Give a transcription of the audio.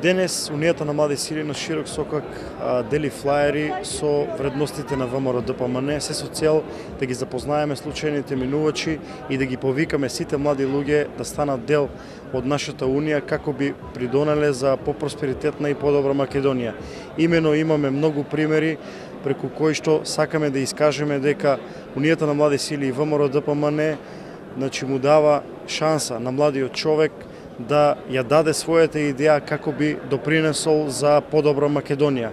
Денес Унијата на млади сили на широк сокак дели флаери со вредностите на ВМРО ДПМН, се со цел да ги запознаеме случајните минувачи и да ги повикаме сите млади луѓе да станат дел од нашата Унија како би придонеле за попросперитетна и подобра Македонија. Имено имаме многу примери преку кои што сакаме да искажеме дека Унијата на млади сили и ВМРО ДПМН му дава шанса на младиот човек да ја даде својата идеја како би допринесол за подобра Македонија.